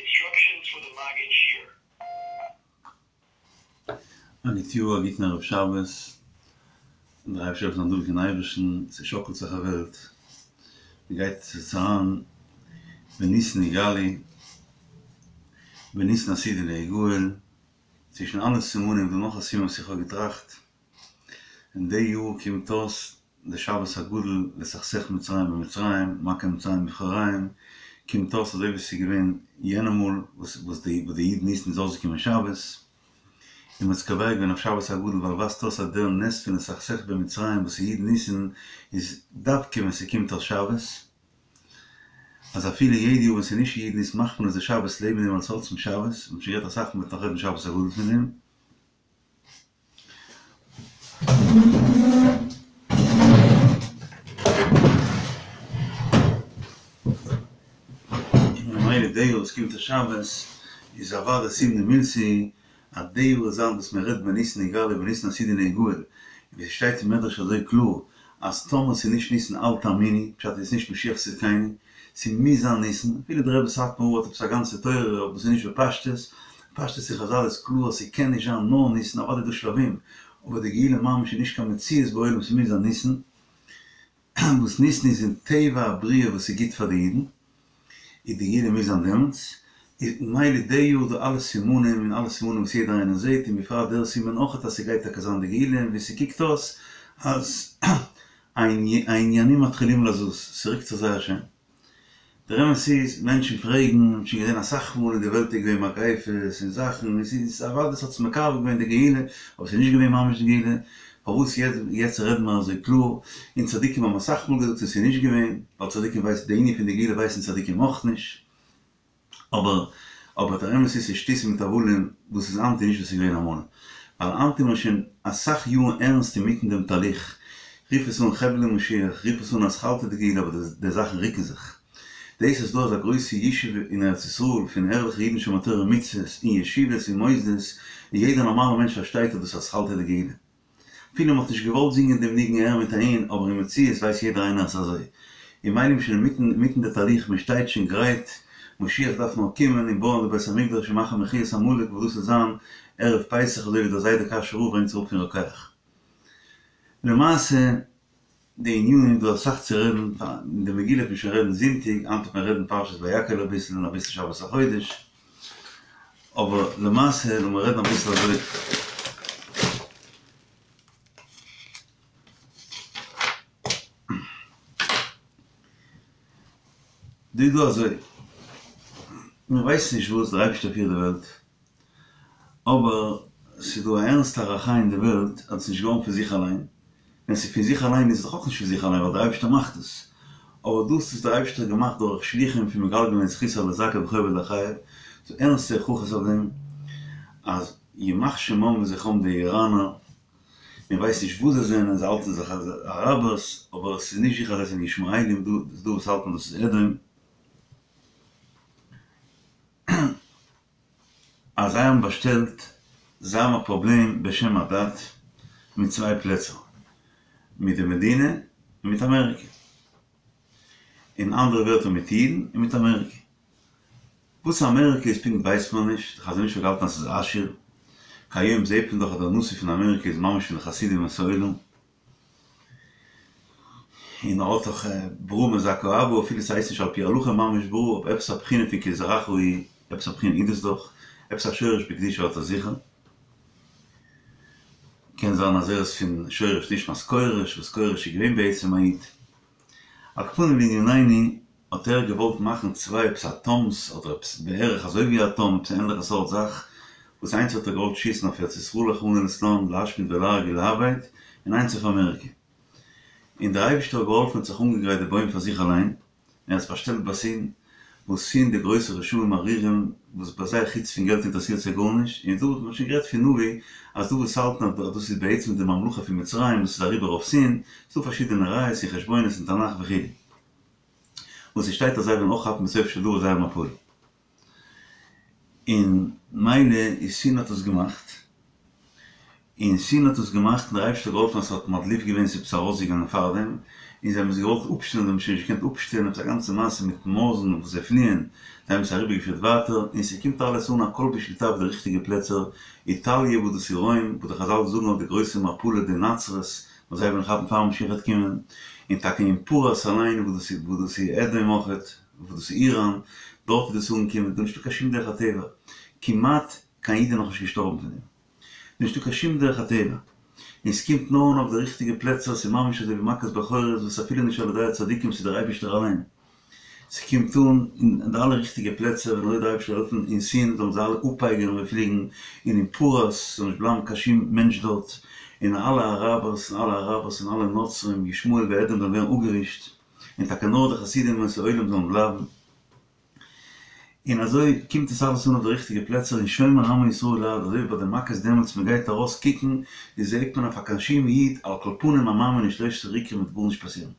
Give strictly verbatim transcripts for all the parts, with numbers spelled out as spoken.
Instructions for the Maggid Shiur. א גוט יאר, א גוטן ערב שבת, דער אייבערשטער זאל העלפן דא אין אייבערשטן, ס'שאקלט זיך א וועלט, מ'גייט יעצט אריין בניסן נגאלו, בניסן עתידין להיגאל, צווישן אלע סימנים איז דא נאך א סימן וואס איך האב געטראכט, אין די יאר קומט אויס די שבת הגדול לסכסך מצרים במצרים, מכה מצרים בבכוריהם, קומט אויס אזוי ווי ס'איז געווען יענע מאל וואס די י' ניסן איז אויסגעקומען שבת, און מ'האט עס קובע געווען אויף שבת הגדול ווייל ווייזט אויס אז דער נס פון לסכסך במצרים וואס איז י' ניסן איז דווקא ווען ס'קומט אויס שבת, אז אפילו יעדע יאר ווען ס'איז נישט י' ניסן מאכט מען עס די שבת לעבן דעם אלס עצם שבת, מ'האט שוין גערעדט אסאך מ'וועט נאך רעדן שבת הגדול פון דעם. און ממילא די יאר וואס קומט אויס שבת איז אוודאי סימנא מילתא אז די יאר וועט זיין וואס מען רעדט בניסן נגאלו ובניסן עתידין להיגאל, ווי עס שטייט אין מדרש אזוי קלאר אז טאמער ס'איז נישט ניסן אל תאמינו, פשט איז נישט משיח צדקינו, ס'מוז זיין ניסן, אפילו דער רבי סאטמאר האט עפעס א גאנצע תורה אבער ס'איז נישט בפשטות, פשטות אין חזל איז קלאר אז ס'קען נישט זיין נאר ניסן, אוודאי איז דא שלבים, אבער די גאולה ממש איז נישט קיין מציאות בעולם ס'מוז זיין ניסן, וואס ניסן איז אין טבע הבריאה וואס איז גוט פאר די אידן, איז די גאולה מוז זיין דעמאלטס, איז ממילא די יאר די אלע סימנים און אלע סימנים וואס יעדער איינער זעט און בפרט דער סימן אויכעט אז ס'גייט טאקע זיין די גאולה און ווי ס'קוקט אויס אז העניינים מתחילים לזוז, ס'רוקט זיך זייער שיין. דער אמת איז, מענטשן פרעגן, מ'האט שוין געזען אסאך מאל אין די וועלט איז געווען מגיפות און זאכן, און ס'איז אוודאי ס'האט זיך מקרב געווען די גאולה, אבער ס'איז נישט געווען ממש די גאולה, פארוואס יעצט רעדן מיר אזוי קלאר, און צדיקים האבן אסאך מאל געזאגט און ס'איז נישט געווען, ווייל צדיקים ווייסן די ענין פון די גאולה ווייסן צדיקים אויך נישט. אבער אבער דער אמת איז ס'איז שטותים מיט הבלים וואס איז היינט איז נישט וואס איז געווען אמאל. ווייל היינט איז מען שוין אסאך יארן ערנסט אינמיטן דעם תהליך, רוף עס אן חבלי משיח, רוף עס אן אתחלתא דגאולה אבער די זאכן רוקן זיך. דאס אז ס'דא אזא גרויסע ישוב אין ארץ ישראל פון ערליכע אידן שומרי תורה ומצוות און ישיבות און מוסדות און יעדער נארמאלער מענטש פארשטייט אז דאס איז אתחלתא דגאולה. אפילו מ'האט נישט געוואלט זינגען דעם ניגון אהער מיט אהין, אבער אין מציאות ווייסט יעדער איינער אז ס'איז אזוי. און ממילא מ'איז שוין אינמיטן אינמיטן די תהליך, מען שטייט שוין גרייט, משיח דארף נאר קומען און בויען די בית המקדש און מאכן מחיית עמלק וואס דאס וועט זיין ערב פסח אזוי ווי דער זיידע קאשוי רב ברענגט זיך אראפ פון רוקח. למעשה די ענינים איז דא אסאך צו רעדן, אין די מגילה וועט מען שוין רעדן זונטאג, היינט וועט מען רעדן פרשת ויקהל אביסל און אביסל שבת החודש, אבער למעשה לאמיר רעדן אביסל אזוי. דא איז דא אזוי, מען ווייסט נישט וואס דער אייבערשטער פירט די וועלט, אבער ס'איז דא א ערנסטע הערכה אין די וועלט אז עס איז נישט געווארן פון זיך אליין, ווען ס'איז פון זיך אליין איז עס דאך אויך נישט פון זיך אליין ווייל דער אייבערשטער מאכט עס, אבער דאס איז דער אייבערשטער געמאכט דורך שליחים פון מגלגלין זכות על הזכאי וחובה לחייב, ס'איז ערנסטע הוכחות אויף דעם אז ימח שמם וזכרם די איראנער, מען ווייסט נישט וואס זיי זענען, זיי האלטן זיך אראבערס, אבער עס איז נישט זיכער אז זיי זענען ישמעאלים, דא וואס האלטן דאס איז אדום. אז זיי האבן באשטעלט, זיי האבן א פראבלעם בשם הדת מיט צוויי פלעצער, מיט די מדינה און מיט אמעריקע. אין אנדערע ווערטער מיט אידן און מיט אמעריקע. וואס אמעריקע איז פונקט ווייסט מען נישט, די חזון איש האט געהאלטן אז ס'איז אשור, כהיום זעהט מען דאך אז דער נשיא פון אמעריקע איז ממש פון די חסידי אומות העולם. און ער האט דאך ברא מזכה אבא אפילו ס'הייסט נישט על פי הלכה ממש ברא אבער עפעס א בחינה פון כי זרעך הוא עפעס א בחינה איז דאס דאך עפעס א שורש בקדושה האט ער זיכער. קען זיין אז ער איז פון שורש נשמת כורש וואס כורש איז געווען בעצם א איד. על כל פנים לענינינו האט ער געוואלט מאכן צוויי עפעס אטאמס אדער עפעס בערך אזוי ווי אטאם עפעס א ענליכע סארט זאך וואס איינס האט ער געוואלט שיסן אויף ארץ ישראל רחמנא לצלן להשמיד ולהרוג ולאבד און איינס אויף אמעריקע און דער אייבישטער האט געהאלפן האט זיך אנגעגרייט די בוים פאר זיך אליין און ער האט עס באשטעלט ביי סין וואס סין די גרויסע רשעים ארורים וואס ביי זיי חוץ פון געלט אינטערעסירט זיי גארנישט און דא האט מען שוין גערעדט פון נביא אז דא וואס האלטן אז דאס איז בעצם די ממלכה פון מצרים וואס איז אריבער אויף סין ס'דא פארשידענע ראיות און חשבונות אין תנך וכו'. וואס עס שטייט אז זיי וועלן אויך כאפן בסוף של דבר זייער מפלה. און מילא איז סין האט עס געמאכט, און סין האט עס געמאכט און דער אייבערשטער האט געהאלפן אז ס'האט מדליף געווען ס'איז עפעס ארויסגעגאנגען פארדעם, און זיי האבן עס געוואלט אפשטעלן זיי האבן שוין נישט געקענט אפשטעלן עפעס א גאנצע מעשה מיט מויזן וואס זיי פליען, זיי האבן עס אריבערגעפירט ווייטער, און ס'קומט אלעס אן הכל בשליטה אויף די ריכטיגע פלעצער, איטאליע וואס דאס איז רוים, וואס די חזל זאגן אויף די גרויסע מפלה די נצרות, וואס זיי וועלן כאפן פאר משיח וועט קומען, און טאקע אין פרס אליין וואס דאס איז וואס דאס איז אדום אויכעט, וואס דאס איז איראן, דארט איז דאס אנגעקומען, דא נישטא קיין שום דרך הטבע, כמעט קיין איד איז נאכנישט געשטארבן פון דעם. נישטא קיין שום דרך הטבע, און ס'קומט נאר אן אויף די ריכטיגע פלעצער, ס'איז ממש אזוי ווי מכת בכורות וואס אפילו נישט על ידי הצדיקים ס'איז דער אייבערשטער אליין, ס'קומט אן אין די אלע ריכטיגע פלעצער און אויב דער אייבערשטער זאל העלפן אין סין זאלן זיי אלע אפפייגערן און פליגן, און אין פרס זאל נישט בלייבן קיין שום מענטש דארט, און אלע אראבערס און אלע אראבערס און אלע נוצרים ישמעאל ואדום זאלן ווערן אפגעווישט, און טאקע נאר די חסידים אומות העולם זאלן בלייבן. און אזוי קומט עס אלעס אן אויף די ריכטיגע פלעצער און שומר עמו ישראל לעד, אזוי ווי ביי די מכות דעמאלטס מען גייט ארויס קוקן איז זעהט מען אויף א קיין שום איד על כל פנים א מאמין אין שלשת עיקרים וועט גארנישט פאסירן.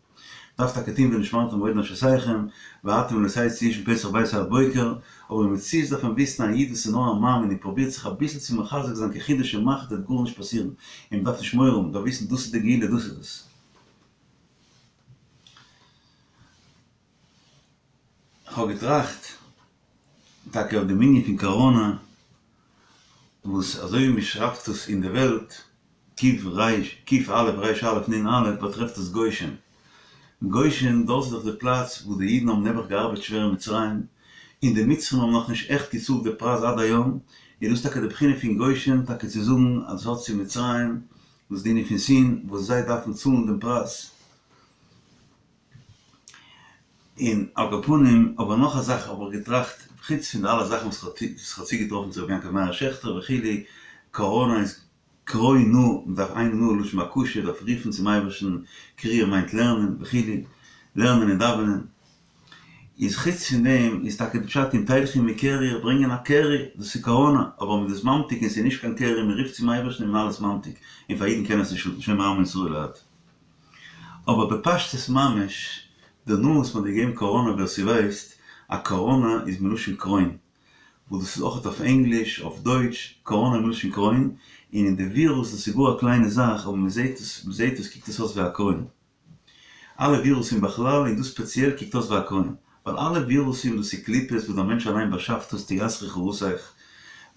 דארף טאקע טוהן ונשמרתם מאוד לנפשותיכם ואתם לא תצאו איש מפתח ביתו עד בוקר, אבער אין מציאות דארף מען וויסן א איד וואס איז נאר א מאמין און פרובירט זיך אביסל צו מחזק זיין כחוט השערה וועט גארנישט פאסירן און מען דארף נישט מורא האבן, מען דארף וויסן דאס איז די גאולה דאס איז עס. כ'האב געטראכט טאקע אויף דעם ענין פון קאראנא, וואס אזוי ווי מ'שרייבט עס אין די וועלט, קוף ריש, קוף אלף ריש אלף נון אלף, באטרעפט עס גושן. גושן, דארט איז דאך די פלאץ וואו די אידן האבן נעבעך געארבעט שווער אין מצרים, און די מצרים האבן נאכנישט עכט געצאלט די פרייז עד היום, איז דאס טאקע די בחינה פון גושן, טאקע צו זאגן אז עס האט צו מצרים, וואס די ענין פון סין, וואס זיי דארפן צאלן דעם פרייז. און על כל פנים, אבער נאך א זאך האב איך געטראכט, חוץ פון די אלע זאכן וואס כ'האב צוגעטראפן צו רבי יעקב מאיר שעכטער וכו', קאראנא איז קרא נא, מ'דארף איין נא לשון בקשה, דארף רופן צום אייבערשטן, קריאה מיינט לערנען וכו', לערנען און דאווענען, איז חוץ פון דעם איז טאקע די פשט אם תלכו מקרי איך ברענגען א קרי, דאס איז קאראנא, אבער מ'איז דאס ממתיק און ס'איז נישט קיין קרי, מ'רופט צום אייבערשטן און מ'איז אלעס ממתיק, און פאר אידן קען עס נישט שאטן, שומר עמו ישראל לעד. אבער בפשטות ממש, די נאמען וואס מ'האט געגעבן קאראנא ווער ס'ווייסט, א קאראנא איז מלשון קרוין, וואס דאס איז אויכעט אויף ענגליש, אויף דויטש, קאראנא איז מלשון קרוין, און אין די ווירוס דאס איז גאר א קליינע זאך אבער מ'זעהט עס, מ'זעהט עס קוקט עס אויס ווי א קרוין. אלע ווירוסים בכלל און דאס ספעציעל קוקט אויס ווי א קרוין. ווייל אלע ווירוסים דאס איז קליפות וואס דער מענטש אליין באשאפט דאס תיסרך רעתך,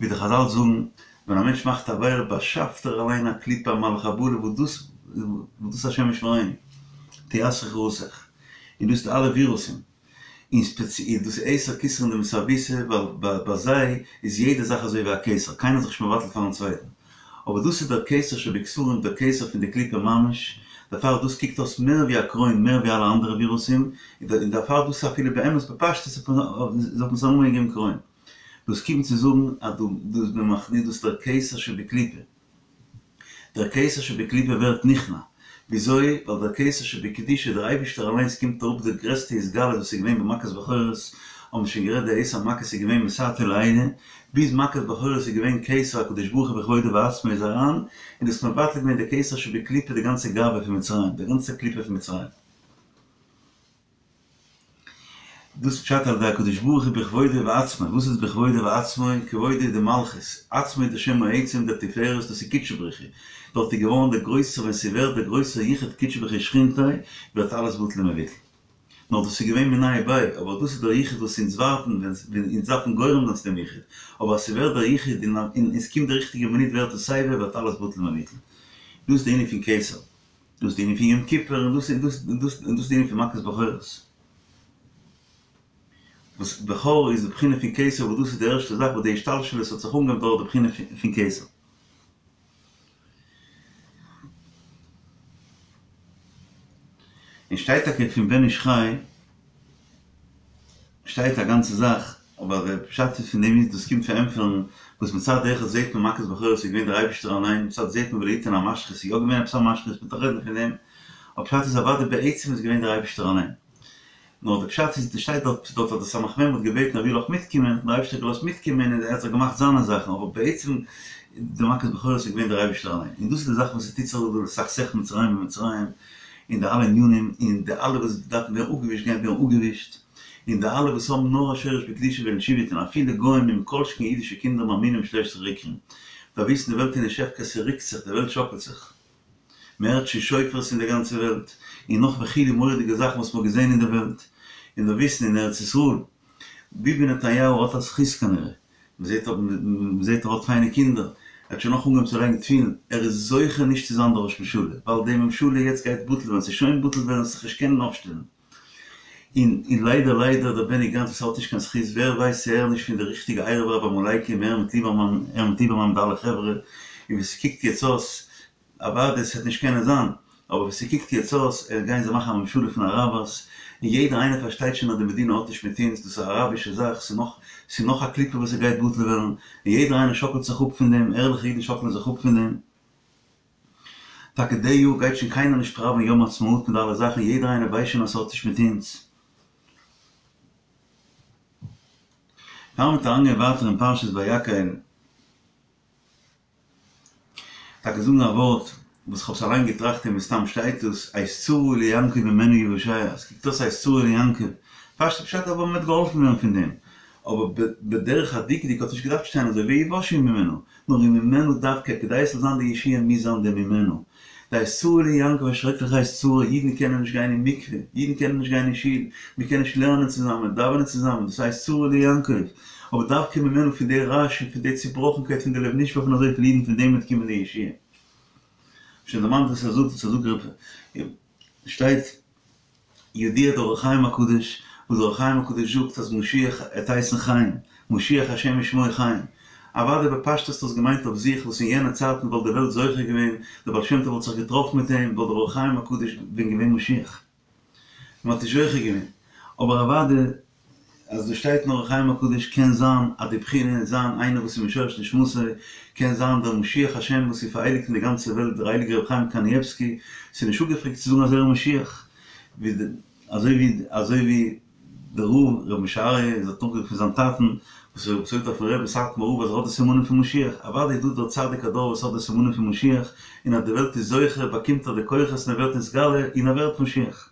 ווי די חזל זאגן, ווען א מענטש מאכט א עבירה באשאפט ער אליין א קליפה א מלאך חבלה וואס דאס וואס דאס השם ישמרינו, תיסרך רעתך, און דאס איז די אלע ווירוסים, און ספעציעל דאס איז עשר כתרין דמסאבותא ווייל ביי זיי איז יעדע זאך אזוי ווי א כתר, קיינער איז זיך נישט מבטל פארן צווייטן. אבער דאס איז דער כתר שבכתרים, דער כתר פון די קליפה ממש, דערפאר דאס קוקט אויס מער ווי א קרוין מער ווי אלע אנדערע ווירוסים, און דערפאר דאס איז אפילו באמת בפשטות האט מען עס א נאמען געגעבן קרוין. דאס קומט צו זאגן אז דא איז מען מכניע דאס דער כתר שבקליפה. דער כתר שבקליפה ווערט נכנע. וויאזוי? ווייל דער כתר שבקדושה, דער אייבישטער אליינס קומט אראפ די גרעסטע התגלות וואס איז געווען במכת בכורות, האבן שוין גערעדט די עשר מכות איז געווען מתתא לעילא, ביז מכת בכורות איז געווען כתר הקדוש ברוך הוא בכבודו ובעצמו איז אריין, און דאס מבטל געווען די כתר שבקליפה די גאנצע גאווה פון מצרים, די גאנצע קליפה פון מצרים. דאס פשט על ידי הקדוש ברוך הוא בכבודו ובעצמו, וואס איז בכבודו ובעצמו? כבודו איז די מלכות, עצמו איז די שם העצם דער תפארת דאס איז קודשא בריך הוא, דארט איז געווארן דער גרויסער ווען ס'ווערט דער גרויסער יחוד קודשא בריך הוא ושכינתיה ווערט אלעס בטל ומבוטל. נאר דאס איז געווען מיניה וביה, אבער דאס איז דער יחוד וואס אונז ווארטן ווען אונז דארפן גורם זיין צו דעם יחוד, אבער אז ס'ווערט דער יחוד און עס קומט די ריכטיגע מינוט ווערט עס סייווי ווערט אלעס בטל ומבוטל. דאס איז די ענין פון כתר. דאס איז די ענין פון יום כיפור און דאס און דאס איז די ענין פון מכת בכורות. וואס בכור איז די בחינה פון כתר וואס דאס איז די ערשטע זאך וואס די השתלשלות האט זיך אנגעהויבן דורך די בחינה פון כתר. און שטייט טאקע פון בן איש חי שטייט א גאנצע זאך, אבער דער פשט איז פון דעם איז דאס קומט פארענטפערן וואס מצד אחד זעהט מען מכת בכורות איז געווען דער אייבישטער אליין, מצד זעהט מען ולא יתן המשחית איז יא געווען עפעס א משחית מ'וועט רעדן פון דעם, אבער פשט איז אוודאי בעצם איז געווען דער אייבישטער אליין. נאר די פשט איז שטייט דארט דארט אז די סמך מם האט געבעטן ער וויל אויך מיטקומען, האט דער אייבישטער געלאזט מיטקומען און ער האט זיך געמאכט זיינע זאכן, אבער בעצם די מכת בכורות איז געווען דער אייבישטער אליין, און דאס איז די זאך וואס עס טוט זיך דא לסכסך מצרים במצרים, און די אלע ענינים, און די אלע וואס דארפן ווערן אפגעווישט גייען ווערן אפגעווישט, און די אלע וואס האבן נאר א שורש בקדושה וועלן תשובה טון, אפילו גוים און מכל שכן אידישע קינדער מאמינים בשלושת עיקרים, דארף וויסן די וועלט איז נישט הפקר ס'רוקט זיך די וועלט שאקלט זיך מ'הערט שוין שופרות אין די גאנצע וועלט און נאך וכו' מורא'דיגע זאכן וואס מ'האט געזען אין די וועלט און דארף וויסן אין ארץ ישראל ביבי נתניהו האט א זכות כנראה מ'זעט מ'זעט ער האט פיינע קינדער ער האט שוין נאך אנגעהויבן צו לייגן תפילין ער איז זוכה נישט צו זיין דער ראש ממשלה ווייל די ממשלה יעצט גייט בטל ווערן ס'איז שוין בטל ווערן זיך נישט קענען אויפשטעלן און און ליידער ליידער דער בעני גאנץ וואס האט נישט קיין זכות ווער ווייסט צו ער איז נישט פון די ריכטיגע ערב רב עמלקים ער מיט ליבערמאן ער מיט ליבערמאן מיט אלע חברה און ווי ס'קוקט יעצט אויס אוודאי ס'וועט נישט קענען זיין אבער ווי ס'קוקט יעצט אויס ער גייען זיי מאכן א ממשלה פון אראבערס און יעדער איינער פארשטייט שוין אז די מדינה האט נישט מיט אונז דאס איז א אראבישע זאך ס'איז נאך ס'איז נאך א קליפה וואס ס'גייט בטל ווערן און יעדער איינער שאקלט זיך אפ פון דעם ערליכע אידן שאקלען זיך אפ פון דעם. טאקע די יאר גייט שוין קיינער נישט פראווען יום העצמאות מיט די אלע זאכן, יעדער איינער ווייסט שוין אז ס'האט נישט מיט אונז. פאר מ'וועט אריינגיין ווייטער אין פרשת ויקהל, טאקע זאגן א ווארט וואס כ'האב עס אליין געטראכט און מסתם שטייט דאס, עת צרה ליעקב ממנה יוושע, עס קוקט אויס עת צרה ליעקב, פשט פשט אבער מ'וועט געהאלפן ווערן פון דעם, אבער בדרך הדקדוק האט נישט געדארפט שטיין אזוי ויוושעו ממנה, נאר וממנה דווקא, כדי עס זאל זיין די ישועה מוז זיין די ממנה. די עת צרה ליעקב א שרעקליכע עת צרה, אידן קענען נישט גיין אין מקווה, אידן קענען נישט גיין אין שול, מען קען נישט לערנען צוזאמען, דאווענען צוזאמען, דאס עת צרה ליעקב, אבער דווקא ממנה פון די רעש און פון די צובראכנקייט פון די לב נשבר פון אזויפיל אידן פון דעם וועט קומען די ישועה. שוין דערמאנט וואס ער זאגט, וואס ער זאגט שטייט. ידוע דער אור החיים הקדוש, וואס דער אור החיים הקדוש זאגט אז משיח עט הייסן חיים, משיח השם ושמו חיים. אוודאי בפשטות האט עס געמיינט אויף זיך וואס אין יענע צייטן וואלט די וועלט זוכה געווען, דער בעל שם טוב וואלט זיך געטראפן מיט אים, וואלט דער אור החיים הקדוש ווען געווען משיח. מען האט נישט זוכה געווען. אבער אוודאי אז דא שטייט אין אור החיים הקדוש קען זיין אז די בחינה איז זיין איינער וואס איז משורש נשמתו, קען זיין דער משיח השם וואס איז פארהייליגט אין די גאנצע וועלט דער הייליגער רבי חיים קאניעווסקי, ס'איז נישט אפגעפרעגט צו זאגן אז ער איז משיח, ווי די אזוי ווי אזוי ווי דער רב רבי משה אריה איז האט נאכגעזאגט פון זיין טאטן וואס ער האט געזאגט אויפן רבי סאטמאר רב אז ער האט די סימנים פון משיח, אוודאי איז דא דער צדיק הדור וואס האט די סימנים פון משיח, און אז די וועלט איז זוכה באקומט ער די כוחות און ער ווערט נתגלה און ער ווערט משיח.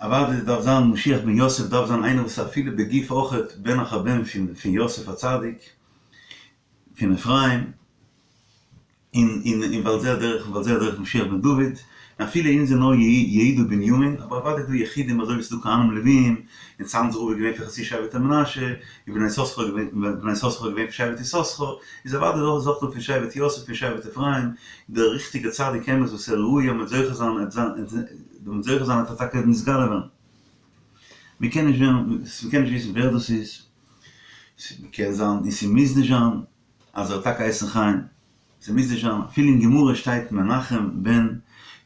אוודאי דארף זיין משיח בן יוסף דארף זיין איינער וואס איז אפילו בגוף אויכעט בן אחר בן פון פון יוסף הצדיק פון אפרים און און און ועל זה הדרך ועל זה הדרך משיח בן דוד און אפילו אונז זענען נאר יהודה ובנימין אבער אוודאי איז דא יחידים אזוי ווי ס'איז דא כהנים לוויים און צאנזער רב איז געווען פון חצי שבט מנשה און בני יששכר איז געווען בני יששכר איז געווען פון שבט יששכר איז אוודאי דא אויך דא פון שבט יוסף פון שבט אפרים דער ריכטיגער צדיק אמת וואס ער ראוי אז מ'וועט זוכה זיין עט זיין מ'וועט זוכה זיין עט ער טאקע נתגלה ווערן. מ'קען נישט ווערן, מ'קען נישט וויסן ווער דאס איז, ס'קען זיין און ס'מוז נישט זיין אז ער האט טאקע הייסן חיים, ס'מוז נישט זיין, אפילו אין גמרא שטייט מנחם בן,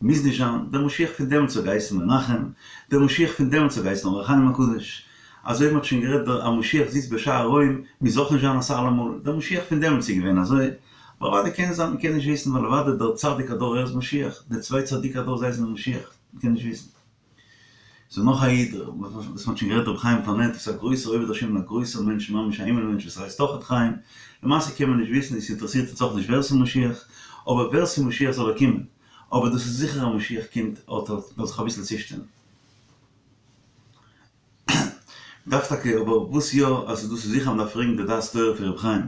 מוז נישט זיין, דער משיח פון דעמאלטס האט געהייסן מנחם, דער משיח פון דעמאלטס האט געהייסן אור החיים הקדוש, אזוי ווי מ'האט שוין גערעדט דער א משיח זיצט בשער רוים מוז אויך נישט זיין אסאך אלעמאל, דער משיח פון דעמאלטס איז געווען אזוי, אבער אוודאי קען זיין, מ'קען נישט וויסן ווייל אוודאי דער צדיק הדור ער איז משיח, די צוויי צדיקי הדור זיי זענען משיח, מ'קען נישט וויסן. ס'איז נאך א איד וואס מ'האט שוין גערעדט רבי חיים פאנעט וואס איז א גרויסער עובד השם און א גרויסער מענטש ממש א הימל מענטש וואס הייסט אויכעט חיים, למעשה קען מען נישט וויסן און ס'אינטערעסירט אונז אויך נישט ווער ס'איז משיח, אבער ווער ס'איז משיח זאל ער קומען, אבער דאס איז זיכער אז משיח קומט אט אט, מ'דארף זיך אביסל צושטעלן. מ'דארף טאקע, אבער וואס יא, אז דאס איז זיכער אז מ'דארף פרעגן די דעת תורה פון רבי חיים.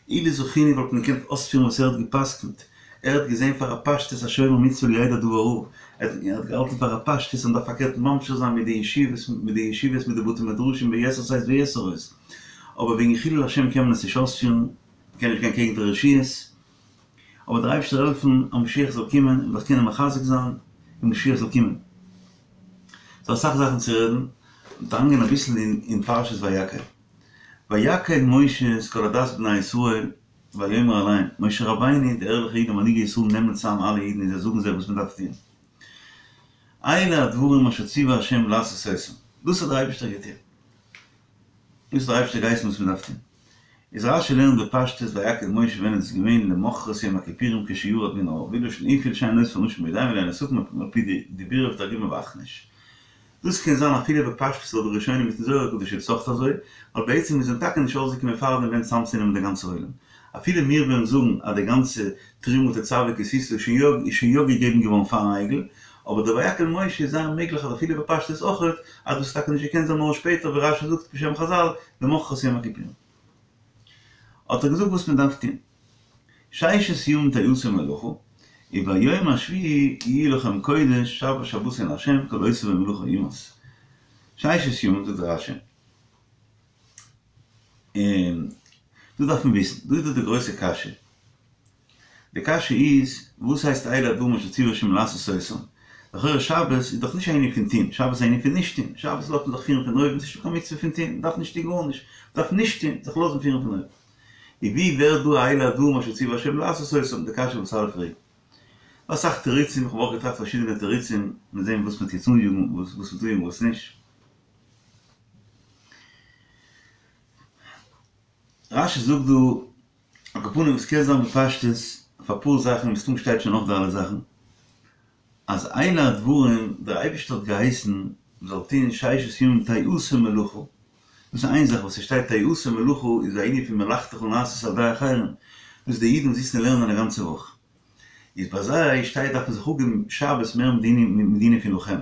אילו זכינו וואלט מען געקענט אויספירן וואס ער האט גע'פסק'נט. ער האט געזען פאר א פשטות השומר מצוה לא ידע דבר רע. ער האט געהאלטן פאר א פשטות אז מ'דארף פארקערט ממשיך זיין מיט די ישיבות, מיט די ישיבות, מיט די בתי מדרשים ביתר שאת ויתר עוז. אבער וועגן חילול השם קען מען עס נישט אויספירן, מ'קען נישט גיין קעגן די רשויות. אבער דער אייבערשטער העלפן אז משיח זאל קומען און זיך קענען מחזק זיין און משיח זאל קומען. ס'דא אסאך זאכן צו רעדן, מ'וועט אריינגיין אביסל אין פרשת ויקהל. ויקהל משה את כל עדת בני ישראל ויאמר אליהם, משה רבינו, די ערליכע אידן מנהיגי ישראל נעמען צאם אלע אידן און זיי זאגן זיי וואס מ'דארף טון. אלה הדברים אשר ציווה ה' לעשות אותם, דאס האט דער אייבערשטער געטון. דאס האט דער אייבערשטער געהייסן וואס מ'דארף טון. איז רש"י לערנט בפשטות ויקהל משה ווען איז עס געווען למחרת יום הכיפורים כשירד מן ההר ואילו אפילו שאין אוספין אנשים בידים אלא הן נאספין על פי דיבורא ותרגומא ואחניש. דאס קען זיין אפילו בפשטות לויט די ראשונים מיטן זוהר הקדוש איז עס אויך אזוי, ווייל בעצם איז מען טאקע נישט אויסגעקומען פארדעם ווען צאמצונעמען די גאנצע עולם. אפילו מיר וועלן זאגן אז די גאנצע תרומה תצוה כי תשא איז שוין יא געגעבן געווארן פארן עגל, אבער דער ויקהל משה איז זייער מעגליך אז אפילו בפשטות אויכעט אז דאס איז טאקע נישט געקענט זיין נאר שפעטער ווי רש"י זאגט בשם חז"ל למחרת יום הכיפורים. האט ער געזאגט וואס מען דארף טון. ששת ימים תעשה מלאכה, וביום השביעי יהיה לכם קודש שבת שבתון לה' כל העושה בו מלאכה יומת. ששת ימים זאגט רש"י. און דא דארף מען וויסן, דא איז דא די גרויסע קשיא. די קשיא איז, וואס הייסט אלה הדברים אשר ציוה ה' לעשות אותם? לכאורה שבת איז דאך נישט א ענין פון טון, שבת איז א ענין פון נישט טון, שבת לאזט מען זיך פירן פון אויבן, ס'איז נישטא קיין מצוה פון טון, מ'דארף נישט טון גארנישט, מ'דארף נישט טון, זיך לאזן פירן פון אויבן. און ווי ווערט דא אלה הדברים אשר ציוה ה' לעשות אותם, די קשיא וואס אלע פרעגן. דא אסאך תירוצים, איך האב אויך געטראכט פארשידענע תירוצים, מיר זעהן וואס מ'טוט אניאגן, וואס מ'טוט און וואס נישט. רש"י זאגט דא, על כל פנים וואס קען זיין בפשטות, אויף אפאר זאכן, מסתמא שטייט שוין אויך די אלע זאכן, אז אלה הדברים, דער אייבערשטער האט געהייסן מ'זאל טון ששת ימים תעשה מלאכה, דאס איז איין זאך וואס ס'שטייט תעשה מלאכה איז א ענין פון מלאכתך נעשית על ידי אחרים, דאס די אידן זיצן און לערנען א גאנצע וואך, איז ביי זיי שטייט דארף מען זיך אפגעבן שבת מער מיט די ענינים פון לכם,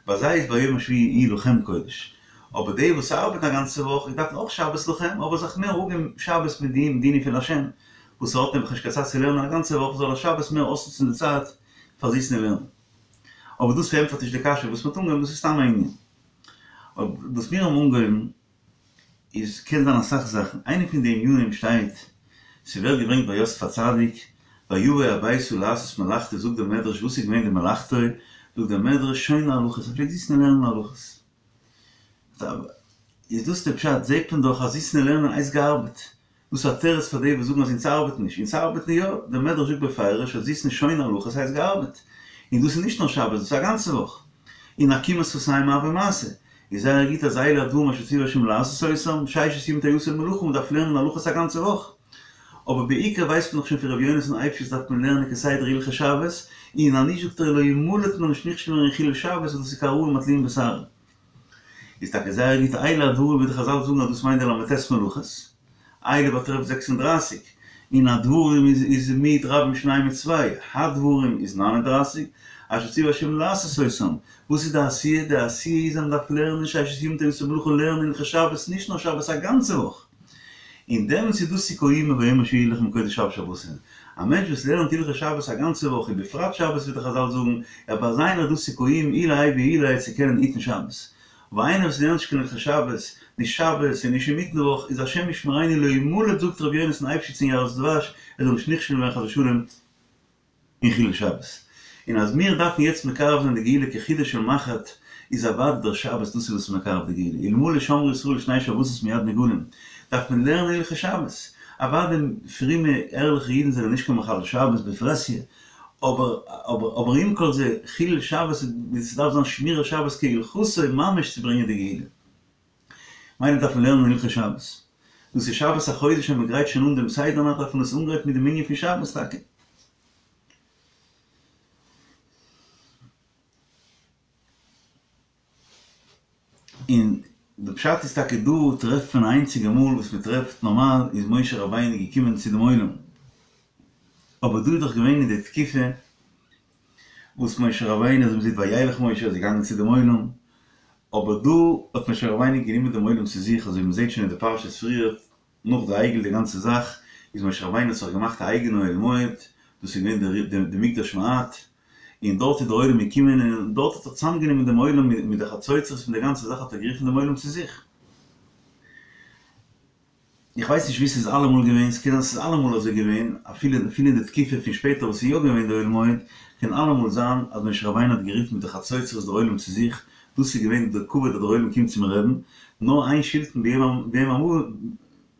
ביי זיי איז ביום השביעי יהיה לכם קודש, אבער די וואס ארבעטן א גאנצע וואך דארפן אויך שבת לכם, אבער זיך מער אפגעבן שבת מיט די ענינים פון לשם, וואס ער האט נעבעך נישט קיין צייט צו לערנען א גאנצע וואך זאל ער שבת מער אויסנוצן די צייט פאר זיצן און לערנען. אבער דאס פארענטפערט נישט די קשיא וואס מ'האט אנגעהויבן, דאס איז סתם א ענין. אבער וואס מיר האבן אנגעהויבן איז קען זיין אסאך זאכן, איינע פון די ענינים שטייט, ס'ווערט געברענגט ביי יוסף הצדיק, ויבא הביתה לעשות מלאכתו זאגט דער מדרש וואס איז געווען די מלאכתו, זאגט דער מדרש שונה הלכות, ער פלעגט זיצן און לערנען הלכות. איז דאס די פשט, זעט מען דאך אז זיצן און לערנען הייסט געארבעט, דאס איז א תירוץ פאר די וואס זאגן אז אונז ארבעטן נישט, אונז ארבעטן יא, דער מדרש זאגט בפירוש אז זיצן שונה הלכות הייסט געארבעט, און דאס איז נישט נאר שבת, דאס איז א גאנצע וואך, און עקימת שפתיים הוי מעשה, איז זייער גוט אז אלה הדברים אשר ציוה השם לעשות אותם, ששת ימים תעשה מלאכה, מען דארף לערנען הלכות א גאנצע וואך, אבער בעיקר ווייסט מען דאך שוין פון ר' יונתן אייבשיץ דארף מען לערנען כסדר הלכות שבת, און אז נישט זאגט ער לא ימלט מען נישט נכשל ווערן אין חילול שבת וואס דאס איז כהרעים התלויים בשערה. איז טאקע זייער גוט אלה הדברים ווי די חזל זאגן אז דאס מיינט די ל"ט מלאכות, אלה באטרעפט זעקס און דרײַסיק, און הדברים איז איז מיעוט רבים שניים מיט צוויי, הדברים איז נײַן און דרײַסיק, אשר ציוה השם לעשות אותם, וואס איז די עשיה? די עשיה איז אז מען דארף לערנען ששת ימים תעשה מלאכה לערנען הלכות שבת נישט נאר שבת א גאנצע וואך, און דעמאלטס איז דאס תקיימו וביום השביעי יהיה לכם קודש שבת שבתון, א מענטש וואס לערנט הלכות שבת א גאנצע וואך ובפרט שבת ווי די חזל זאגן, ער ביי זיין איז דאס תקיימו עילאי ועילאי צו קענען היטן שבת. אבער איינער וואס לערנט נישט קיין הלכות שבת, נישט שבת און נישט אינמיטן וואך, איז השם ישמרינו לא ימלט זאגט ר' יונתן אייבשיץ אין יערות דבש, ער זאל נישט נכשל ווערן חס ושלום אין חילול שבת. און אז מיר דארפן יעצט מקרב זיין די גאולה כחודו של מחט, איז אוודאי דער שבת דאס איז וואס איז מקרב די גאולה, אלמלא שמרו ישראל שני שבתות מיד נגאלין, דארף מען לערנען הלכות שבת, אוודאי פרומע ערליכע אידן זענען נישט קיין מחלל שבת בפרהסיא, אבער אבער אבער עם כל זה, חילול שבת איז ס'דארף זיין שמירת שבת כהלכתו ממש צו ברענגען די גאולה. מילא דארף מען לערנען הלכות שבת. דאס איז שבת החודש ווען מ'גרייט שוין אן דעם סדר נאכט דארף מען עס אנגרייטן מיט דעם ענין פון שבת טאקע. און די פשט איז טאקע דא טרעפט מען א איינציגע מאל וואס מען טרעפט נארמאל איז משה רבינו געקומען צו דעם עולם אבער דא איז דאך געווען אין די תקופה וואס משה רבינו אזוי מ'זעט וילך משה איז געגאנגען צו דעם עולם אבער דא האט משה רבינו גענומען דעם עולם צו זיך אזוי ווי מ'זעט שוין אין די פרשיות פריער נאך די עגל די גאנצע זאך איז משה רבינו האט זיך געמאכט א אייגענע אוהל מועד דאס איז געווען די מקדש מעט און דארט איז דער עולם געקומען און דארט האט ער צוזאמגענומען דעם עולם מיט די חצוצרות מיט די גאנצע זאך האט ער גערופן דעם עולם צו זיך. איך ווייס נישט ווי ס'איז אלעמאל געווען, ס'קען זיין ס'איז אלעמאל אזוי געווען, אפילו אפילו אין די תקופה פון שפעטער וואס איז יא געווען די אוהל מועד, קען אלעמאל זיין אז משה רבינו האט גערופן מיט די חצוצרות דער עולם צו זיך, דאס איז געווען די כבוד אז דער עולם קומט צום רעבן, נאר איין שלטון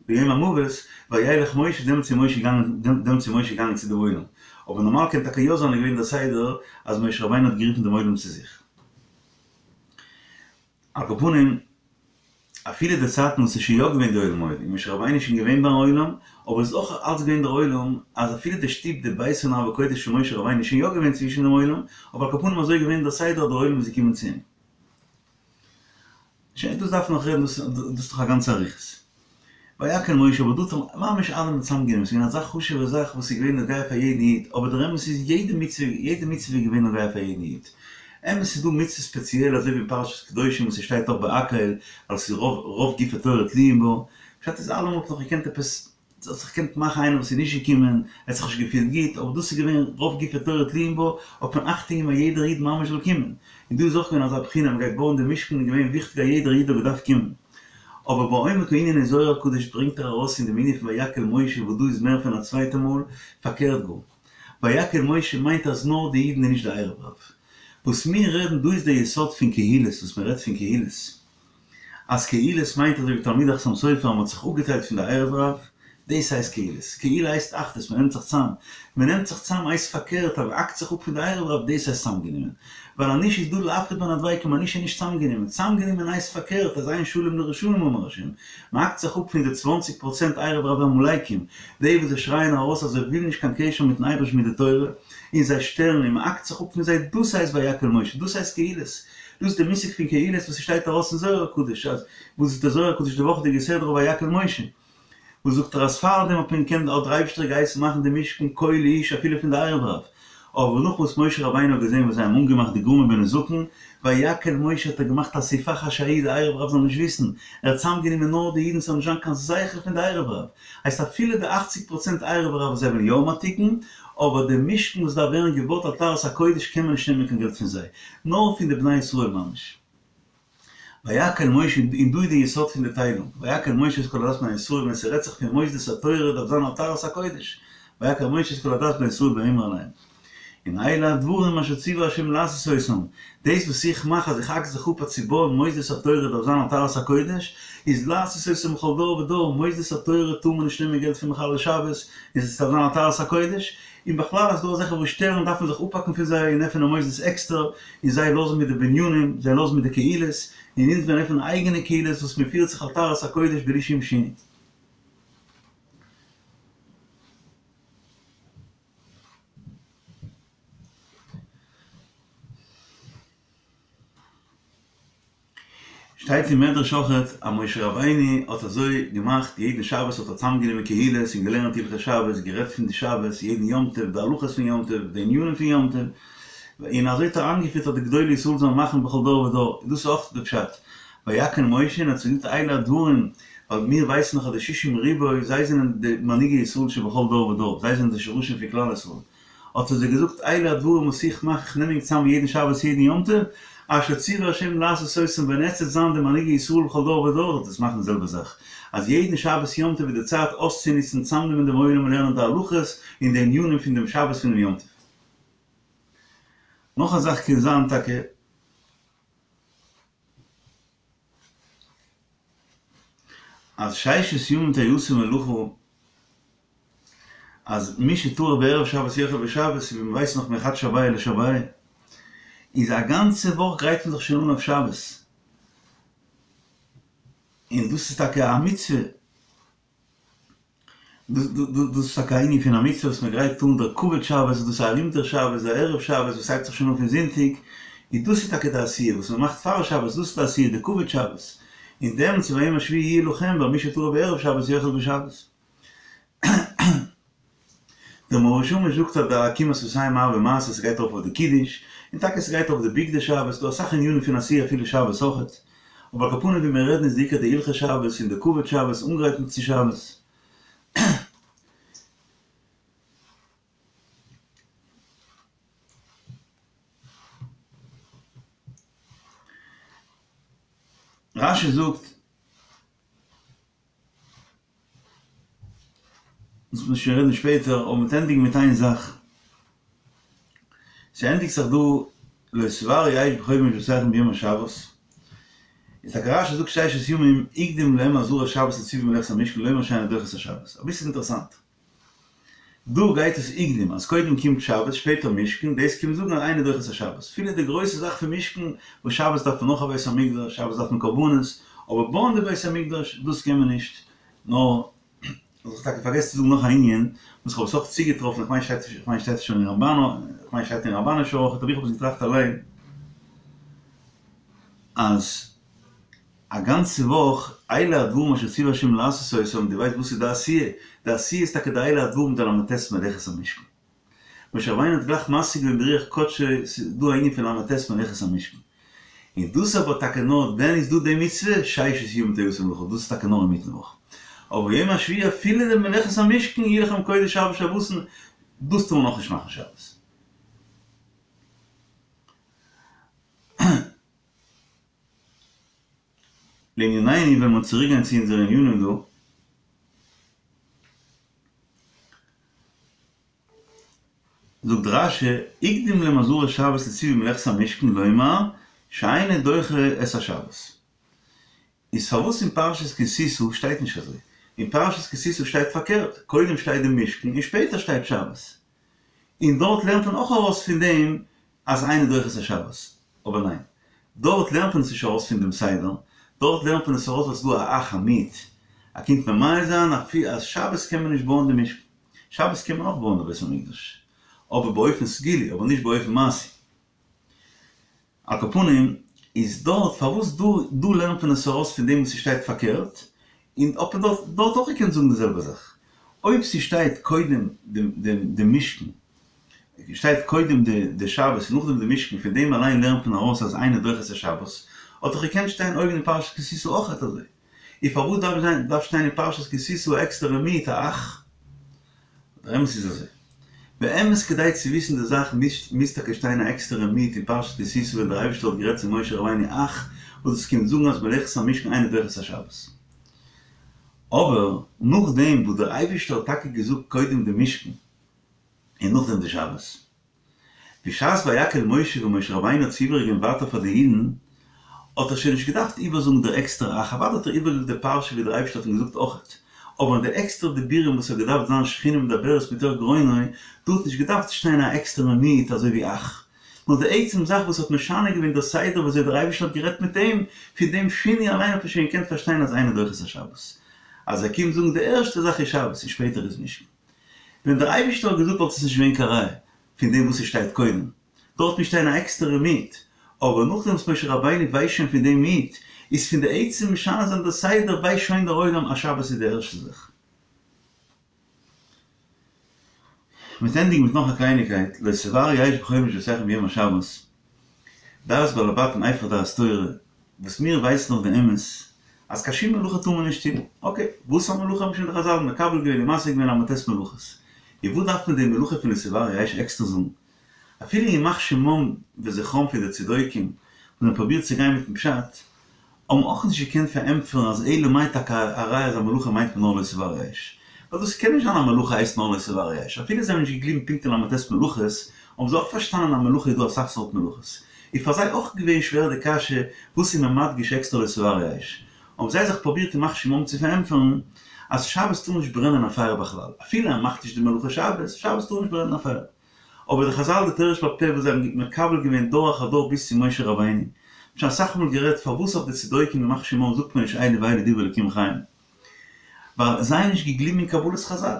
ביום המוות, וילך משה, דעמאלטס איז משה געגאנגען, דעמאלטס איז משה געגאנגען צו דעם עולם. אבער נארמאל קען טאקע יא זיין איז געווען דער סדר אז משה רבינו האט גערופן דעם עולם צו זיך. על כל פנים, אפילו די צייטן וואס איז שוין יא געווען די אוהל מועד און משה רבינו איז שוין געווען ביים עולם, אבער עס איז אויך אלץ געווען דער עולם, אז אפילו די שטוב די ביתו נאוה קודש פון משה רבינו איז שוין יא געווען צווישן דעם עולם, אבער על כל פנים אזוי איז געווען דער סדר אז דער עולם איז געקומען צו אים. שוין דאס דארף מען נאך רעדן דאס איז דאך א גאנצע אריכות. ויקהל משה אבער דא האט ער ממש אלעמען צוזאמגענומען, ס'איז געווען אזא חשוב'ע זאך וואס איז געווען נוגע פאר יעדן איד, אבער דער אמת איז יעדע מצוה יעדע מצוה איז געווען נוגע פאר יעדן איד. אמת ס'איז דא מצוות ספעציעל אזוי ווי אין פרשת קדושים וואס ס'שטייט אויך בהקהל ווייל ס'איז רוב רוב גופי תורה תלויים בו, פשט איז אלעמאל האט נאך געקענט עפעס ס'האט זיך געקענט מאכן איינער וואס איז נישט געקומען, ער האט זיך נישט געפילט גוט, אבער דאס איז געווען רוב גופי תורה תלויים בה, האט מען אכטונג געגעבן אז יעדער איד ממש זאל קומען. און דא איז אויך געווען אזא בחינה, מען גייט בויען די משכן איז געווען וויכטיג אז יעדער איד האט געדארפט קומען. אבער בעומק הענין אין זוהר הקדוש ברענגט ער ארויס אין דעם ענין פון ויקהל משה וואס דא איז מער פון א צווייטע מאל, פארקערט גאר. ויקהל משה מיינט אז נאר די אידן און נישט די ערב רב. וואס מיר רעדן דא איז דער יסוד פון קהילות וואס מען רעדט פון קהילות. אז קהילות מיינט אזוי ווי תלמידי חתם סופר אז מען האט זיך אפגעטיילט פון די ערב רב, דאס הייסט קהילות. קהילה הייסט אחדות, מען נעמט זיך צאם. מען נעמט זיך צאם הייסט פארקערט אז מען האקט זיך אפ פון די ערב רב, דאס הייסט צאמגענומען. ווייל אז נישט איז דא להפריד בין הדבקים אז נישט איז נישט צאמגענומען. צאמגענומען הייסט פארקערט אז אין שלום לרשעים אמר השם. מען האקט זיך אפ פון די צוואנציג פראצענט ערב רב עמלקים, די וואס זיי שרייען ארויס אז זיי ווילן נישט קיין קשר מיטן אייבערשטן מיט די תורה, און זיי שטערן און מען האקט זיך אפ פון זיי, דאס הייסט ויקהל משה, דאס הייסט קהילות. דאס איז די מושג פון קהילות וואס ס'שטייט ארויס אין זוהר הקדוש אז וואס איז די זוהר הקדוש די וואכעדיגע סדרה ויקהל משה וואס זאגט ער אז פארדעם האט מען געקענט האט דער אייבישטער געהייסן מאכן די משכן כל איש אפילו פון די ערב רב אבער נאך וואס משה רבינו האט געזען וואס זיי האבן אנגעמאכט די גרמא בנזקין ויקהל משה האט ער געמאכט אסיפה חשאית די ערב רב זאל נישט וויסן ער האט צוזאמגענומען נאר די אידן ס'זאל נישט זיין קיין זכר פון די ערב רב הייסט אפילו די אכציג פראצענט ערב רב זיי וועלן יא האבן א תיקון אבער די משכן וואס דארף ווערן געבויט על טהרת הקודש קען מען נישט נעמען קיין געלט פון זיי, נאר פון די בני ישראל ממש. ויקהל משה, און דא איז די יסוד פון די טיילונג, ויקהל משה את כל עדת בני ישראל, ווען ס'רעדט זיך פון מוסדות התורה דארף זיין על טהרת הקודש, ויקהל משה את כל עדת בני ישראל ויאמר אליהם, און אלה הדברים אשר ציווה ה' לעשות אותם, דאס וואס איך מאך אז איך האק זיך אפ אז צו בויען מוסדות התורה דארף זיין על טהרת הקודש, איז לעשות אותם בכל דור ודור, מוסדות התורה טאר מען נישט נעמען געלט פון מחלל שבת, און עס דארף זיין על טהרת הקודש, און בכלל אז ס'דא אזעלכע וואס שטערן דארף מען זיך אפהאקן פון זיי און עפענען מוסדות עקסטער, און זיי לאזן מיט די בנינים, זיי לאזן מיט די קהילות, און אונז וועלן עפענען אייגענע קהילות וואס מען פירט זיך על טהרת הקודש בלי שום שינוי. שטייט אין מדרש אויכעט אז משה רבינו האט אזוי געמאכט יעדן שבת האט ער צאמגענומען קהילות און געלערנט הלכות שבת, גערעדט פון די שבת, יעדן יום טוב, די הלכות פון יום טוב, די ענינים פון יום טוב, און אזוי האט ער איינגעפירט אז די גדולי ישראל זאלן מאכן בכל דור ודור, דאס איז אויך די פשט, ויקהל משה און האט זיי געזאגט אלה הדברים, ווייל מיר ווייסן דאך אז די שישים ריבוא זיי זענען די מנהיגי ישראל שבכל דור ודור, זיי זענען די שרשים פון כלל ישראל, האט ער זיי געזאגט אלה הדברים וואס איך מאך, איך נעם ענק צאם יעדן שבת יעדן יום טוב, אשר ציווה ה' לעשות אותם ווען עטס וועט זיין די מנהיגי ישראל בכל דור ודור זאלט עטס מאכן די זעלבע זאך, אז יעדן שבת יום טוב איז די צייט אויסצונוצן צאמנעמען דעם עולם און לערנען די הלכות און די ענינים פון דעם שבת פון דעם יום טוב. נאך א זאך קען זיין טאקע. אז ששת ימים תעשה מלאכה אז מי שטרח בערב שבת יאכל בשבת ווי מען ווייסט נאך מחד שביי לשביי איז א גאנצע וואך גרייט מען זיך שוין אן אויף שבת און דאס איז טאקע א מצוה. דאס איז טאקע א ענין פון א מצוה וואס מען גרייט אן דער כבוד שבת, דאס איז ארום דער שבת, דער ערב שבת וואס הייבט זיך שוין אן פון זונטאג, און דאס איז טאקע די עשיה וואס מען מאכט פאר שבת, דאס איז די עשיה, די כבוד שבת, און דעמאלטס איז וביום השביעי יהיה לכם, ווייל מי שטרח בערב שבת יאכל בשבת. דער מאור ושמש זאגט אז די עקימת שפתים מערבי מעשה ס'גייט ארויף אויף די קידוש, און טאקע ס'גייט אויף די בגדי שבת, ס'דא אסאך ענינים פון עשיה אפילו שבת אויכעט, אבער על כל פנים ווי מיר רעדן איז די עיקר די הלכות שבת און די כבוד שבת אנגרייטן צו שבת. רש"י זאגט. דאס וועט מען שוין רעדן שפעטער, אבער מ'וועט ענדיגן מיט איין זאך. ס'ענדיגט זיך דא לא תבערו אש בכל מושבותיכם ביום השבת. איז טאקע רש"י זאגט ששת ימים הקדים להם אזהרת שבת לציווי מלאכת המשכן לומר שאינה דוחה את השבת. אביסל אינטערעסאנט. דא גייט עס הקדים אז קודם קומט שבת שפעטער משכן, דאס קומט זאגן אז אינה דוחה את השבת. אפילו די גרויסע זאך פון משכן, וואס שבת דארף מען נאך א בית המקדש, שבת דארף מען קרבנות, אבער בויען די בית המקדש, דאס קען מען נישט, נאר, האב איך טאקע פארגעסן צו זאגן נאך א ענין, וואס כ'האב עס אויך צוגעטראפן, איך מיין שטייט, איך מיין שטייט שוין אין רמב"ן, איך מיין שטייט אין רמב"ן אפשר אויך, אבער איך האב עס געטראכט אליין, אז א גאנצע וואך, אלה הדברים אשר ציווה השם לעשות אותם, דו ווייסט וואס איז די עשיה? די עשיה איז טאקע די אלה הדברים די ל"ט מלאכת המשכן. משה רבינו האט גלייך משיג געווען ברוח קדשו, ס'איז דא א ענין פון ל"ט מלאכת המשכן. און דאס אבער טאקע נאר ווען איז דא די מצוה? ששת ימים תעשה מלאכה, דאס איז טאקע נאר אינמיטן וואך. אבער יום השביעי אפילו די מלאכת המשכן יהיה לכם קודש ארבע שבתון, דאס טאר מען נאכנישט מאכן שבת. לענינינו ווען מיר צוריק גיין צו אונזערע ענינים דא, זאגט רש"י, הקדים להם אזהרת שבת לציווי מלאכת המשכן לומר שאינו דוחה את השבת. איז פארוואס אין פרשת כי תשא שטייט נישט אזוי? אין פרשת כי תשא שטייט פארקערט, קודם שטייט די משכן און שפעטער שטייט שבת. און דארט לערנט מען אויך ארויס פון דעם אז אינו דוחה את השבת. אבער ניין, דארט לערנט מען עס נישט ארויס פון דעם סדר, דארט לערנט מען עס ארויס ווייל ס'איז דא א אך א מיעוט, א קומט ממעט זיין אפי' אז שבת קען מען נישט בויען די משכן. שבת קען מען אויך בויען די בית המקדש, אבער באופן סגולי, אבער נישט באופן מעשי. על כל פנים, איז דארט, פארוואס דא דא לערנט מען עס ארויס פון דעם וואס ס'שטייט פארקערט, און האט מען דארט דארט אויך געקענט זאגן די זעלבע זאך. אויב ס'שטייט קודם דעם דעם דעם משכן, שטייט קודם די די שבת און נאכדעם די משכן, פון דעם אליין לערנט מען ארויס אז אינו דוחה את השבת, האט דאך געקענט שטיין אויבן אין פרשת כי תשא אויך אזוי. און פארוואס דארף זיין דארף שטיין אין פרשת כי תשא א עקסטערע מיעוט א אך? דער אמת איז אזוי. באמת כדי צו וויסן די זאך מוז טאקע שטיין א עקסטערע מיעוט אין פרשת כי תשא ווען דער אייבערשטער האט גערעדט צו משה רבינו אך וואס דאס קומט זאגן אז מלאכת המשכן אינו דוחה את השבת. אבער נאכדעם וואס דער אייבערשטער האט טאקע געזאגט קודם די משכן און נאכדעם די שבת. בשעת ויקהל משה ווען משה רבינו האט עס איבערגעגעבן ווייטער פאר די אידן, האט ער שוין נישט געדארפט איבערזאגן דער עקסטערע אך, אוודאי האט ער איבערגעזאגט די פרשה ווי דער אייבערשטער האט אים געזאגט אויכעט, אבער אין די עקסטערע דיבורים וואס האט געדארפט זיין שכינה מדברת מתוך גרונו, דא האט נישט געדארפט שטיין א עקסטערע מיעוט אזוי ווי אך, נאר די עצם זאך וואס האט משנה געווען דער סדר ווי אזוי דער אייבערשטער האט גערעדט מיט אים, פון דעם שינוי אליין האט מען שוין געקענט פארשטיין אז אינו דוחה את השבת, אז ער קומט זאגן די ערשטע זאך איז שבת און שפעטער איז משכן. ווען דער אייבערשטער האט געזאגט וואלט עס נישט געווען קיין ראיה פון דעם וואס עס שטייט קודם, דארט מוז שטיין א עקסטערע מיעוט, אבער נאכדעם וואס משה רבינו ווייסט שוין פון דעם מיעוט, איז פון די עצם משנה זיין דער סדר ווייסט שוין דער עולם אז שבת איז די ערשטע זאך. מ'וועט ענדיגן מיט נאך א קלייניקייט, לא תבערו אש בכל מושבותיכם ביום השבת, דעת בעלי בתים איפה דעת תורה, וואס מיר ווייסן נאך די אמת, אז קיין שום מלאכה טאר מען נישט טון, אקעי, וואס א מלאכה האבן שוין די חזל מקבל געווען און משיג געווען ל"ט מלאכות, און וואס דארף מען די מלאכה פון לא תבערו אש עקסטער זאגן? אפילו ימח שמם וזכרם פון די צדוקים וואס האבן פרובירט צו גיין מיטן פשט, האבן אויך נישט געקענט פארענטפערן אז אלא מאי טאקע א ראיה אז א מלאכה מיינט מען נאר לא תבערו אש. ווייל דאס קען נישט זיין א מלאכה הייסט נאר לא תבערו אש. אפילו זיי האבן נישט געגליבן פונקט אין ל"ט מלאכות, האבן זיי אויך פארשטאנען אז מלאכה איז דא אסאך סארט מלאכות. איז פאר זיי אויך געווען שווער די קשיא וואס איז מען מדגיש עקסטער לא תבערו אש. האבן זיי זיך פרובירט ימח שמם צו פארענטפערן אז שבת טאר נישט ברענען א פייער בכלל. אפילו אז מ'מאכט נישט די מלאכה שבת, שבת טאר נישט ברענען א פייער. אבער די חזל די תורה שבעל פה וואס זיי האבן מקבל געווען דור אחר דור ביז צו משה רבינו, מ'האט שוין אסאך מאל גערעדט פארוואס אויף די צדוקים ימח שמם זאגט מען נישט אלו ואלו דברי אלקים חיים, ווייל זיי האבן נישט געגליבן אין קבלת חזל,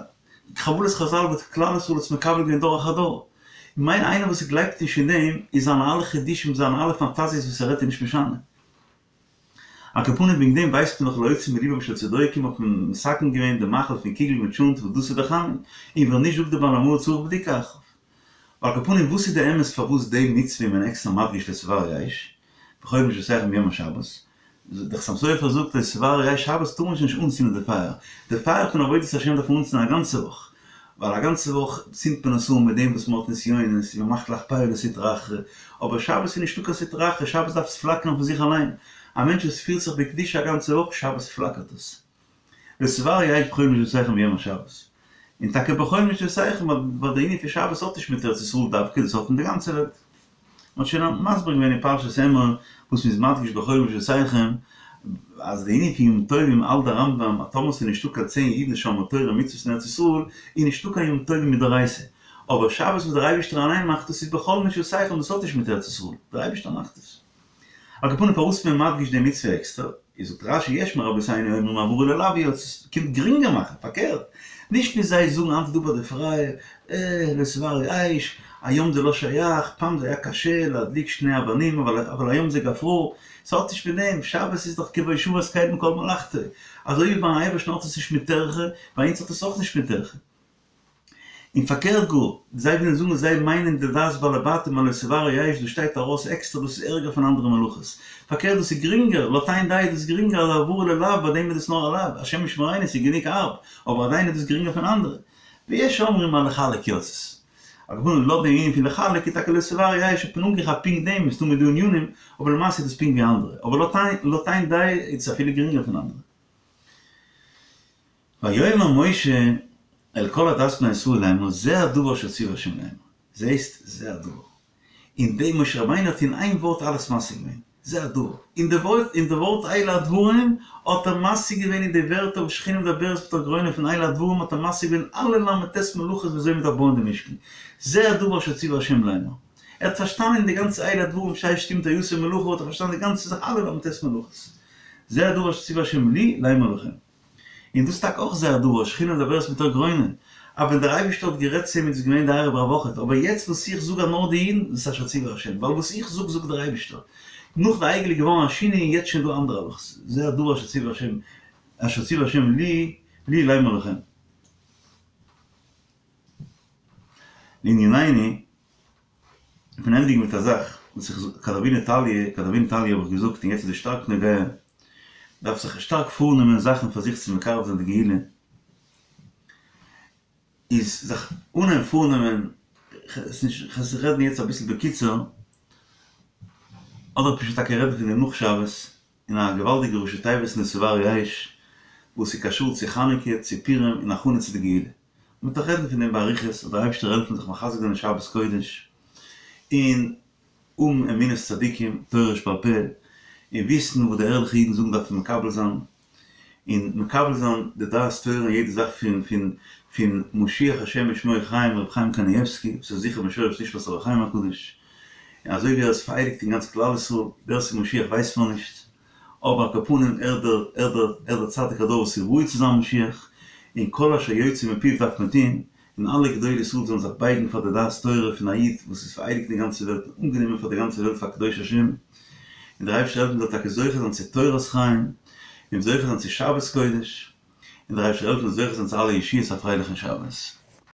קבלת חזל וואס כלל ישראל האט מקבל געווען דור אחר דור, ממילא איינער וואס גלייבט נישט אין דעם איז זיינע אלע חידושים זיינע אלע פאנטאזיעס וואס ער רעדט איז נישט משנה. על כל פנים וועגן דעם ווייסט מען דאך להוציא מליבם של צדוקים האט מען מתקן געווען די מאכל פון קוגל מיט טשולנט וואס דאס איז די חמין, און ווען נישט זאגט די בעל המאור צריך בדיקה אחריו. ועל כל פנים וואס איז די אמת פארוואס די מצוה איז מען עקסטער מדגיש לא תבערו אש בכל מושבותיכם ביום השבת, די חתם סופר זאגט לא תבערו אש שבת טאר מען שוין נישט אנצינדן די פייער, די פייער פון עבודת השם דארף מען אנצינדן א גאנצע וואך, ווייל א גאנצע וואך צינדט מען עס אן מיט דעם וואס מען האט נסיונות און מען מאכט לחפייהו לסטרא אחרא, אבער שבת איז נישטא קיין סטרא אחרא, שבת דארף עס פלאקערן פון זיך אליין, א מענטש וואס פירט זיך בקדושה א גאנצע וואך, שבת פלאקערט עס. לא תבערו אש בכל מושבותיכם ביום השבת. און טאקע בכל מושבותיכם ווייל די ענין פון שבת האט נישט מיט ארץ ישראל דווקא, דאס האט מיט די גאנצע וועלט. מען האט שוין מסביר געווען אין פרשת אמור וואס מ'איז מדגיש בכל מושבותיכם, אז די ענין פון ימים טובים האלט דער רמב"ם אז טאמער ס'איז נישטא קיין צען אידן שומרי תורה ומצוות אין ארץ ישראל איז נישטא קיין ימים טובים מדאורייתא, אבער שבת וואס דער אייבערשטער אליין מאכט דאס איז בכל מושבותיכם דאס האט נישט מיט ארץ ישראל, דער אייבערשטער מאכט עס. על כל פנים פארוואס איז מען מדגיש די מצוה עקסטער? איז זאגט רש"י יש מרבותינו אומרים העברה ללאו היא עס קומט גרינגער מאכן, פארקערט, נישט ווי זיי זאגן היינט איז דא ביי די פרייע, אה, לא תבערו אש, היום זה לא שייך, פעם זה היה קשה להדליק שני אבנים אבל אבל היום זה גפרור, ס'האט נישט מיט דעם, שבת איז דאך כי בו שבת קל מכל מלאכתו, אזוי ווי ביים אייבערשטן האט עס נישט מיט טרחה, ביי אונז האט עס אויך נישט מיט טרחה. און פארקערט גאר, זיי ווילן זאגן זיי מיינען די דעת בעלי בתים אז לא תבערו אש, דאס שטייט ארויס עקסטער דאס איז ערגער פון אנדערע מלאכות. פארקערט דאס איז גרינגער, לויט איין דעה איז דאס גרינגער אז הבערה ללאו ביי דעם איז דאס נאר א לאו, השם ישמרינו ס'איז גענוג הארב, אבער עדיין איז דאס גרינגער פון אנדערע. ויש אומרים אז לחלק יצאת. על כל פנים לויט דעם ענין פון לחלק איז טאקע לא תבערו אש האט מען אנגעכאפט פונקט דעם, מסתמא דא ענינים, אבער למעשה איז דאס פונקט ווי אנדערע, אבער לויט איין דעה איז עס אפילו גרינגער פון אנדערע. ויאמר משה אל כל עדת בני ישראל לאמר זה הדבר אשר ציווה ה' לאמר, זעסט, זה הדבר. אין דעם משה רבינו האט אין איין ווארט אלעס משיג געווען, זה הדבר. אין די ווארט, אין די ווארט אלה הדברים האט ער משיג געווען אין די ווערטער וואס שכינה מדברת בתוך גרונו פון אלה הדברים האט ער משיג געווען אלע ל"ט מלאכות ווי אזוי מען דארף בויען די משכן. זה הדבר אשר ציווה ה' לאמר. ער האט פארשטאנען די גאנצע אלה הדברים ששת ימים תעשה מלאכה האט ער פארשטאנען די גאנצע זאך אלע ל"ט מלאכות. זה הדבר אשר ציווה ה' לי לאמר לכם. און דאס טאקע אויך זה הדבר, שכינה מדברת מתוך גרונו, אז ווען דער אייבערשטער האט גערעדט צו אים איז עס געווען די ערב רב אויכעט, אבער יעצט וואס איך זאג אז נאר די אידן, דאס איז אשר ציווה ה', ווייל וואס איך זאג זאגט דער אייבערשטער. נאך די עגל איז געווארן א שינוי און יעצט שוין דא אנדערע הלכות, זה הדבר אשר ציווה ה', אשר ציווה ה' לי, לי לאמר לכם. לענינינו, איך בין ענדיגן מיט א זאך וואס איך כדאבינו תליא, כדאבינו תליא האב איך געזאגט און יעצט איז עס שטארק נוגע, דארף זיך שטארק פארנעמען זאכן פאר זיך צו מקרב זיין די גאולה, איז זיך אנהייבן פארנעמען, כ'וועל זיך רעדן יעצט אביסל בקיצור, אדער פשוט טאקע רעדן פון דעם נאך שבת, אין א געוואלדיגע ראשי תיבות לא תבערו אש, וואס איז קשור צו חנוכה, צו פורים און הכנה צו די גאולה. מ'וועט דאך רעדן פון דעם באריכות, זאל דער אייבערשטער העלפן זיך מחזק זיין אין שבת קודש, און האבן אמונת צדיקים, תורה שבעל פה, און וויסן וואס די ערליכע אידן זאגן דארף מען מקבל זיין, און מקבל זיין די דעת תורה אין יעדע זאך פון פון פון משיח השם ושמו חיים רבי חיים קנייבסקי וואס איז זיכער משורש נשמת אור החיים הקדוש, און אזוי ווי ער איז פאראייביגט אין גאנץ כלל ישראל, ווער ס'איז משיח ווייסט מען נישט, אבער על כל פנים ער דער ער דער ער דער צדיק הדור וואס איז ראוי צו זיין משיח, און כל אשר יוצא מפיו דארף מען טון, און אלע גדולי ישראל זאלן זיך בייגן פאר די דעת תורה פון א איד וואס איז פאראייביגט אין די גאנצע וועלט און אנגענומען פאר די גאנצע וועלט פאר קדוש השם, און דער אייבערשטער העלפן מ'זאל טאקע זוכה זיין צו תורת חיים, און זוכה זיין צו שבת קודש, און דער אייבערשטער העלפן זוכה זיין צו אלע ישועות א פרייליכן שבת.